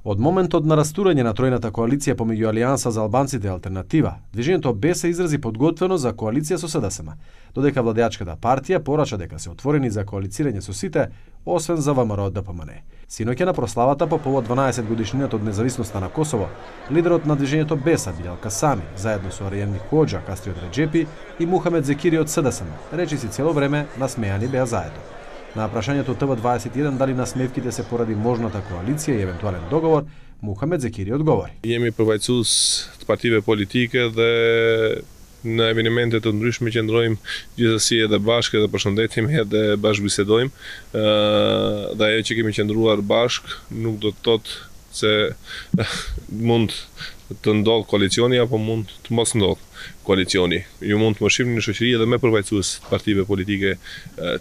Од моментот на растурање на тројната коалиција помеѓу Алијанса за албанците и Алтернатива, движењето БЕС изрази подготвеност за коалиција со СДСМ, додека владеачката партија порача дека се отворени за коалицирање со сите, освен за ВМРО ДПМН. Синоќа на прославата по повод 12 годишнината од независноста на Косово, лидерот на движењето БЕС Билјал Касами, заедно со Аријан Хоџа, Кастриот Реџепи и Мухамед Зекири од СДСМ, речиси цело време насмејани беа заедно. На прашањето ТВ21 дали насмевките се поради можната коалиција и евентуален договор, Мухамед Зекири одговори. Jemi përfaqësues të partive politike dhe në evenimente të ndryshme qëndrojmë gjithsesi edhe bashkë edhe përshëndetemi edhe bashkëbisedojmë. Dhe ajo që kemi qëndruar bashkë nuk do të thotë se mund të ndodh koalicioni apo mund të mos ndodh koalicioni. Ju mund të më shihni në shoqëri edhe me përfaqësues të partive politike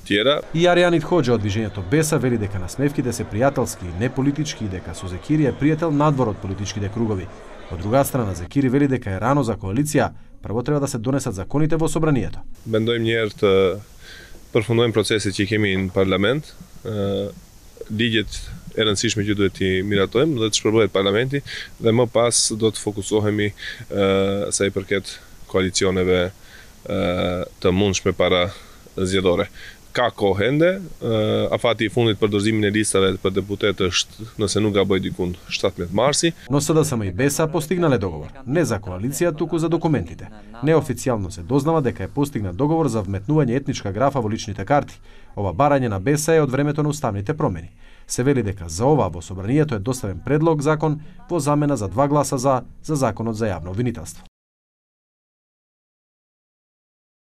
tjera. И Аријанит Хоџа од движењето БЕС вели дека насмевките се пријателски и не политички и дека со Зекири е пријател надвор од политичките кругови. Од друга страна, Зекири вели дека е рано за коалиција, прво треба да се донесат законите во собранието. Mendojmë një herë të përfundojmë proceset që kemi në parlament. Ligjet e rëndësishme që duhet t'i miratojmë dhe të shpërblehen parlamenti dhe më pas do të fokusohemi sa i përket koalicioneve të mundshme para zgjedhore. Ka kohë ende, afati i fundit për dorëzimin e listave për deputet është, nëse nuk gaboj dikund, 17 marsi. Но СДСМ и БЕС постигнале договор, не за коалиција, туку за документите. Неофицијално се дознава дека е постигнат договор за вметнување етничка графа во личните карти. Ова барање на БЕС е од времето на уставните промени. Се вели дека за ова во собранието е доставен предлог закон во замена за 2 гласа за законот за јавно обвинителство.